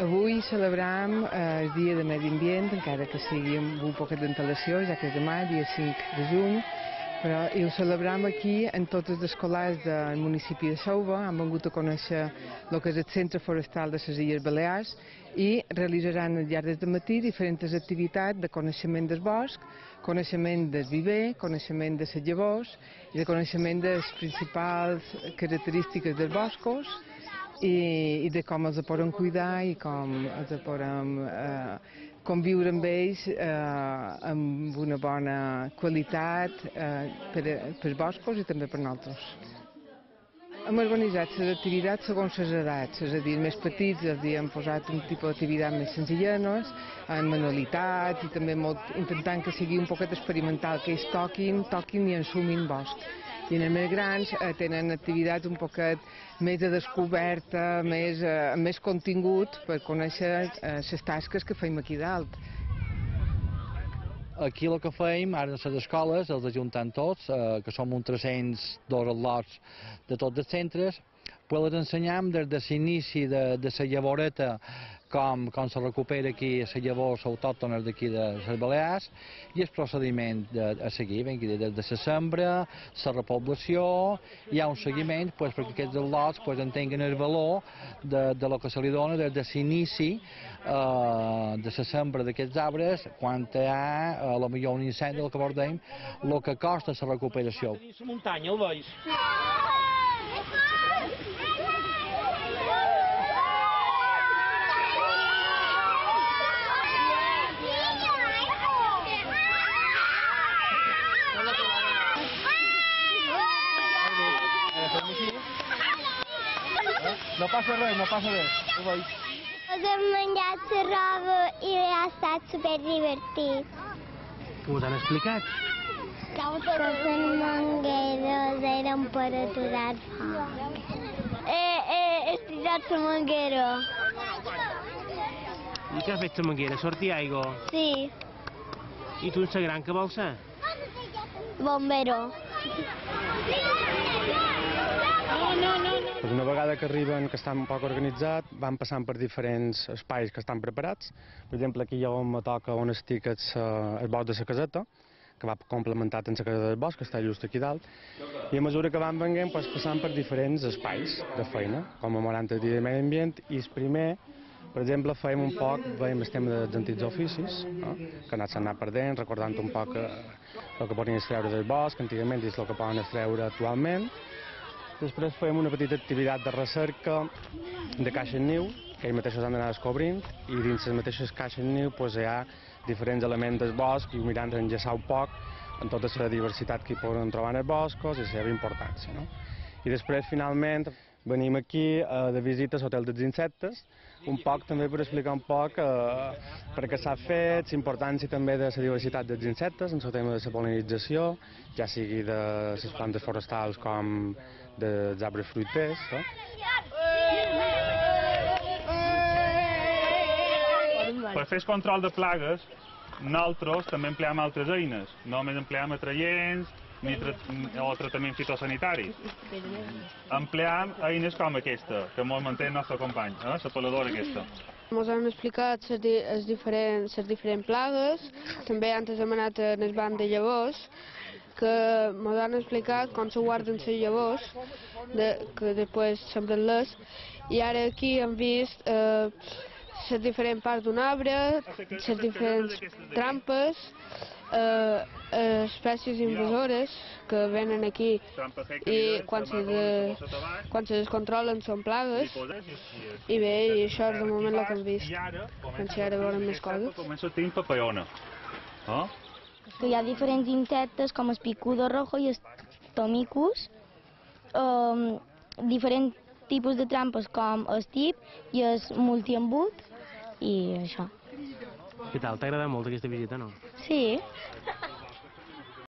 Avui celebrem el Dia de Medi Ambient, encara que sigui amb un poquet d'antelació, ja que és demà, dia 5 de juny, però ho celebrem aquí en tots els escolars del municipi de Xelva. Han vingut a conèixer el que és el Centre Forestal de les Illes Balears i realitzaran al llarg del matí diferents activitats de coneixement del bosc, coneixement del viver, coneixement de les llavors i de coneixement de les principals característiques dels boscos i de com els podem cuidar i com els podem conviure amb ells amb una bona qualitat per als boscos i també per nosaltres. Hem organitzat les activitats segons les edats, és a dir, els més petits els hem posat un tipus d'activitat més senzillenes, amb manualitats i també intentant que sigui un poquet experimental, que ells toquin i ensumin bosc. I els més grans tenen activitats un poquet més de descoberta, amb més contingut per conèixer les tasques que fem aquí dalt. Aquí el que fem, ara a les escoles, els ajuntem tots, que som uns 302 al·lots de tots els centres, pues els ensenyam des de l'inici de la llavoreta com se recupera aquí les llavors autòctones d'aquí de les Balears i el procediment a seguir, des de la sembra, la repoblació, hi ha un seguiment perquè aquests al·lots entenguen el valor de lo que se li dona des de l'inici de la sembra d'aquests arbres, quan hi ha potser un incendi, el que abordem, el que costa la recuperació. La muntanya, el veus? No passa res, ho veus? Ens hem menjat la roba i ha estat superdivertit. Què us han explicat? Que les mangueres eren per aturar foc. He estirat la manguera. I què ha fet la manguera? Sortir aigua? Sí, I tu, en gran, què vols ser? bombero. Una vegada que arriben, que estan un poc organitzats, van passant per diferents espais que estan preparats. Per exemple, aquí hi ha on me toca on estic el bosc de la caseta, que va complementat amb la caseta del bosc, que està just aquí dalt. I a mesura que van venint, passant per diferents espais de feina, com a 40 dies de medi ambient, i el primer, per exemple, fèiem un poc, veiem el tema dels antics oficis, no? Que s'han anat perdent, recordant un poc el que podien extreure del bosc, antigament, i el que poden extreure actualment. Després fèiem una petita activitat de recerca de caixes niu, que ells mateixos han d'anar descobrint, i dins les mateixes caixes niu hi ha diferents elements del bosc i mirant d'enllaçar un poc en tota la diversitat que hi poden trobar en els boscos i la seva importància. No? I després, finalment, venim aquí de visita a l'Hotel dels Insectes, un poc també per explicar un poc per què s'ha fet, la importància també de la diversitat dels insectes en el tema de la pol·linització, ja sigui de les plantes forestals com dels arbres fruiters. No? Per fer el control de plagues, nosaltres també empleam altres eines, no només empleam atraients o tractaments fitosanitaris. Empleam eines com aquesta, que ens manté el nostre company, la peladora aquesta. Ens han explicat les diferents plagues, també antes hem anat en el banc de llavors, que ens han explicat com se guarden les llavors, que després sembren-les, i ara aquí hem vist les diferents parts d'un arbre, les diferents trampes, espècies invasores que venen aquí i quan se descontrolen són plagues i bé, i això és de moment el que hem vist. Pensé ara veurem més coses. Comença a tenir papallona. Hi ha diferents insectes com el picudo rojo i el tomicus, diferents tipus de trampes com el tip i el multiembut i això. Què tal? T'ha agradat molt aquesta visita, no? Sí.